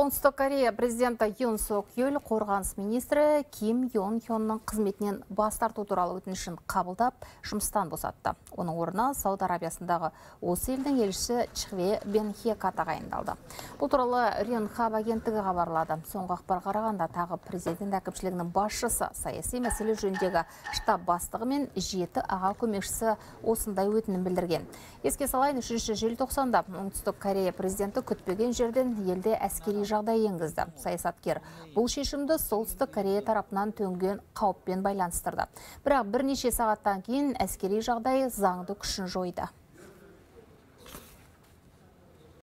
Оңтүстік Корея президенті Юн Сок Йөл қорғаныс министрі Ким Йон Хённың қызметінен бас тарту туралы өтінішін қабылдап, жұмыстан босатты. Оның орнына Сауд Арабиясындағы осы елдің елшісі Чхве Бенхека тағайындалды. Бұл туралы Ренхаб агенттігі хабарлады. Соңғы ақпарға қарағанда тағы президент әкімшілігінің басшысы, саяси мәселе жөніндегі штаб бастығы мен 7 аға көмекшісі осындай өтінім білдірген. Еске салайын, 3 желтоқсанда Оңтүстік Корея президенті күтпеген жерден елде әскери жағдай енгізді. Саясаткер бұл шешімді Солтүстік Корея тарапынан төнген қауіппен байланыстырды. Бірақ бірнеше сағаттан кейін әскери жағдай заңды күшін жойды.